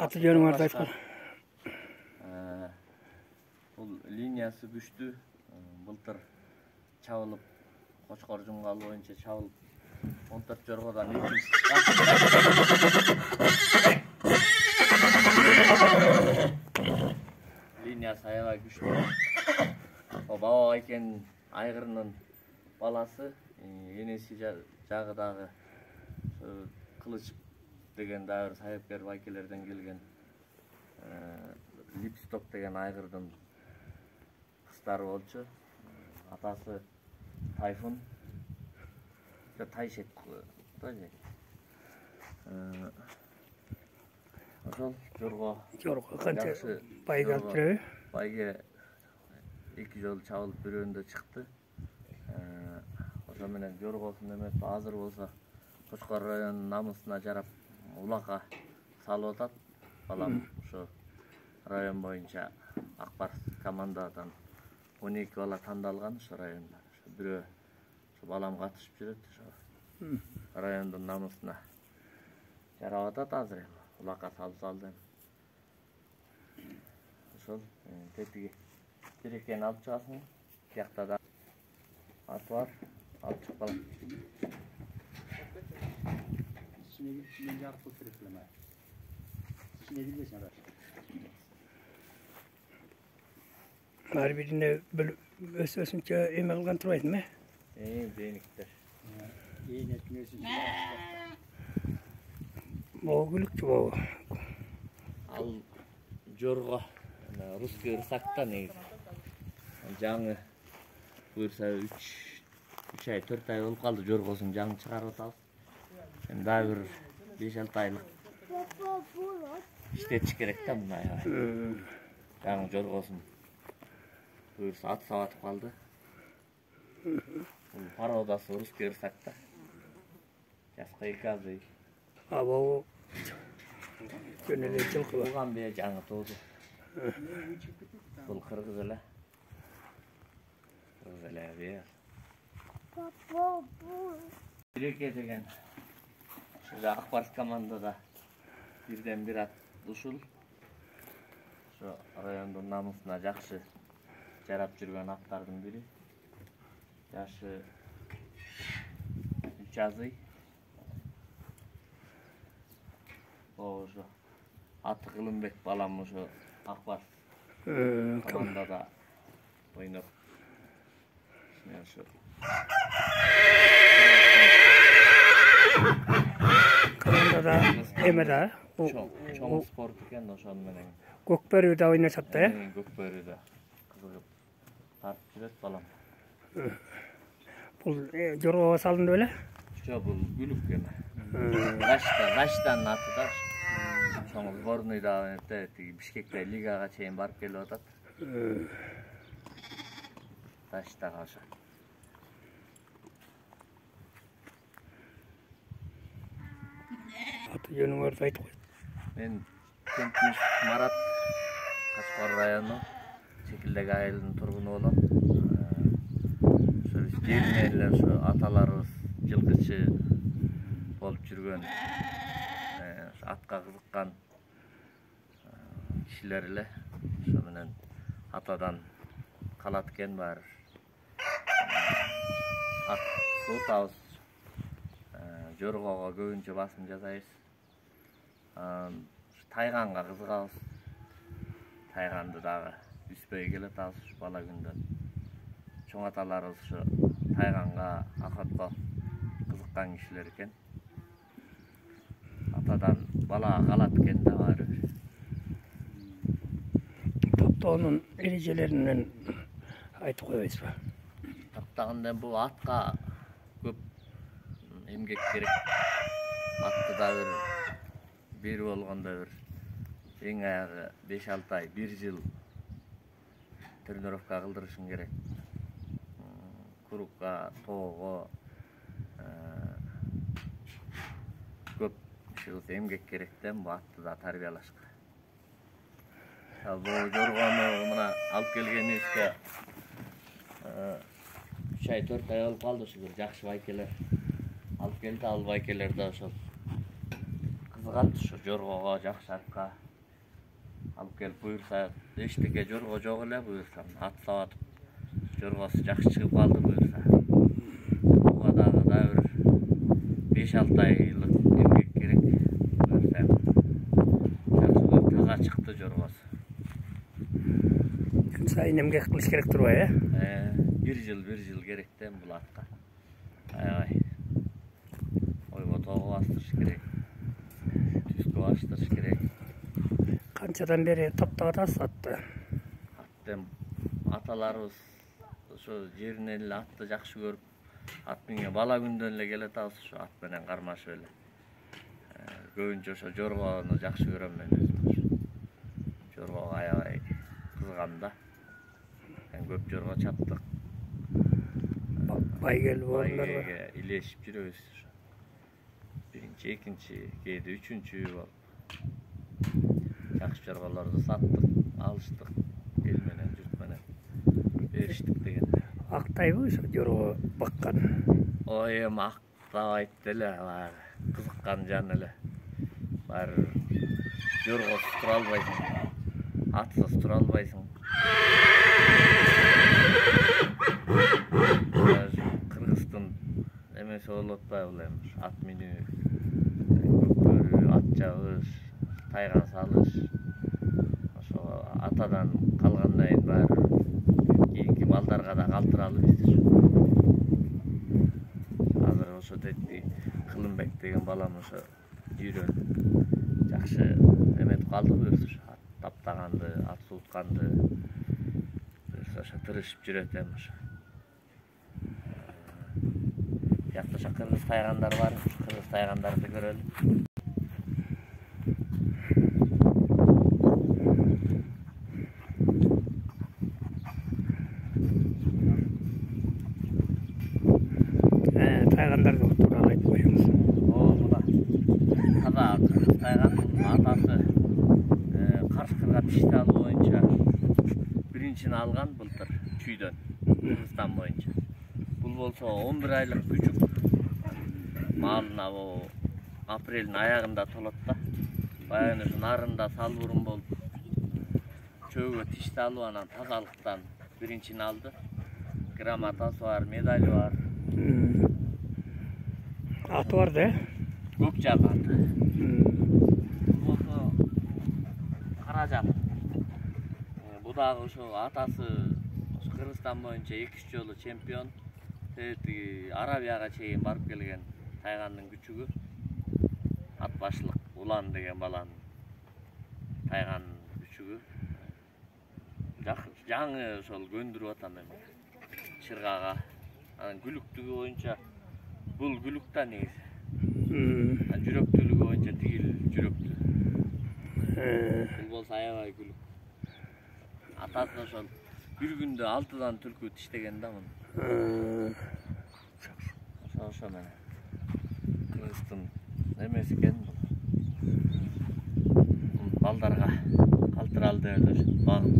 Аты жөнүңөрдү айткан. Бул линиясы күчтүү. Былтыр чабылып, Кочкор жумгалы боюнча чабылып, 14 жоргодан 2 линиясы аябай күчтүү. Баба байкенин айгырынын баласы, энеси жагы дагы Кылыч деген дагы сайыпкер байкелерден келген Липсток деген айгырдын кыздары болчу. Атасы Тайфун, Тайшет тоже. Ошол жорго канча байга алып жүрөбү? Байге 2 жолу чабылып бирөөндө чыкты. Ошо менен жоргосун эметип азыр болсо Кочкор районунун намысына жарап улакка салып атат. Балам ошо район боюнча Акбарс командадан 12 бала тандалган ошо районда. Бирөө ошо балам катышып жүрөт ошо. Райондун намысына жарап атат азыр эми. Улакка салып салды эми. Ошол тетиги Терекени алып чыгасың. Биякта да аты бар. Алып чыгып калам. İçine yarıp götürüp İçine bilirsin ara. Ар бирине өсүнчө эме кылган турбайсыңбы? Дейниктер. İyi etmiyorsun. Могу күлүкчү болу. Ал жорго русский рысакта негизи. Жаңы буюрса 3 ай 4 ай болуп калды жоргосун жаңы чыгарып атабыз. Эми дагы бир 5-6 айлык иштетиш керек да муну аябай. Жаңы жоргосун буюрса ат сабатып калды. Бул породасы русский рысакта. Жаска 2 азый. Або жөн эле жылкы бар. Буган бе жаңы тууду. Бул кыргыз эле. Кыргыз эле бе. Тереке деген ошо Акбарс командада бирден бир ат ушул. Ошо райондун намысына жакшы жарап жүргөн аттардын бири. Жашы 3 азый. Ошо аты Кылымбек балам ошо Акбарс командада ойноп. Ошо командада эме да чоң спорт экен, ошону менен Көкбөрүдө ойношот да, Көкбөрүдө кызыгып тартып жүрөт балам. Бул жоргого салынды беле? Жок, бул күлүк эме. Раштан аты да. Чоң сборныйда тиги Бишкекте лигага чейин барып келип атат. Раштага ошо. Аты жөнүңөрдү айтып кой. Мен Кемпиш Марат, Кочкор району Чекилдек айылынын тургуну болом. Ошо биз жеринен эле ошо аталарыбыз жылкычы болуп жүргөн, атка кызыккан кишилер эле. Ошо менен атадан калат экен баары. Ат сутабыз. Жоргого көбүнчө басым жасайбыз. Тайганга кызыгабыз. Тайганды дагы үспөй келатабыз бала күндөн. Чоң аталарыбыз ошо тайганга, акатко кызыккан кишилер экен. Атадан балага калат экен да баары бир. Топтоонун эрежелеринен айтып койбойсузбу? Топтогондо бул атка көп эмгек керек. Атты да бир болгондо бир эң аягы 5-6 ай, 1 жыл тренировка кылдырышың керек. Курукка, тоого көп эмгек керек да бул атты да тарбиялашка. Бул жоргону мына алып келгенибизге 3 ай 4 ай болуп калды. Ошо бир жакшы байкелер алып келди. Ал байкелер да ошо кызыгат ошо жоргого, жакшы атка. алып келип буюрса эчтеке жорго жок эле буюрса ат сабатып жоргосу жакшы чыгып калды буюрса. Буга дагы бир 5-6 айлык эмгек керек буюрса. Жакшы таза чыкты жоргосу. Күн сайын эмгек кылыш керек турбайбы, бир жыл керек да бул атка. Аябай. Ойго тоого бастырыш керек. Түскө баштырыш керек. Канчадан бери топтоп атасыз атты? Аттем аталарыбыз ошо жеринен эле атты жакшы көрүп, ат менен бала күндөн эле келе атабыз, ошо ат менен кармашып эле. Көбүнчө ошо жоргону жакшы көрөм мен өзүм. Жоргого аябай кызыгам да. Көп жорго чаптык. Байгел болдуңарбы? Байгеге илешип жүрөбүз. Биринчи, экинчи, кээде үчүнчү болуп. Жакшы жорголорду саттык, алыштык, эл менен, журт менен бериштик деген. Актайбы ошо жорго баккан? Ой, эми актабайт деле, баягы кызыккан жан эле. Баары жоргосуз тура албайсың, атсыз тура албайсың. Кыргыздын эмеси болуп атпайбы эми ат минүү, көкбөрү, ат жабыш, тайган салыш. Ошо атадан калгандан кийин баары кийинки балдарга да калтыралы биз. Азыр ошо детти Кылымбек деген балам ошо үйрөнүп жакшы эметип калды буюрса, ат таптаганды, ат суутканды ошо тырышып жүрөт эми ошо. Бияқта ошо кыргыз тайгандар бар, кыргыз тайгандарды көрөлү. Тайгандарды тууралуу айтып коюңуз. Мына таза кыргыз тайгандын атасы Карышкырга тишти алуу боюнча биринчини алган былтыр чүйдөн, Кыргызстан боюнча. Бул болсо 11 айлык күчүк. Малына апрелдин аягында толот да. Баягы ушу нарында салбурун болуп, чөөгө тишти алып анан тазалыктан биринчини алды. Грамотасы бар, медали бар. Аты бар да? Көк жак аты. Бул болсо Каражал. Бу дагы ошо атасы Кыргызстан боюнча 2-3 жолу чемпион. Арабияга чейин барып келген тайгандын күчүгү. Ат башлык Улан деген баланын тайгандын күчүгү. Жаңы ошол көндүрүп атам эми. Чыргага. Анан күлүктүгү боюнча бул күлүк да негизи. Жүрөктүүлүгү боюнча тигил жүрөктүү. Бул болсо аябай күлүк. Атасы ошол бир күндө 6дан түлкү тиштеген да муну. Ошо менен Кыргыздын эмеси экен бул. Балдарга калтыралы деп эле багып.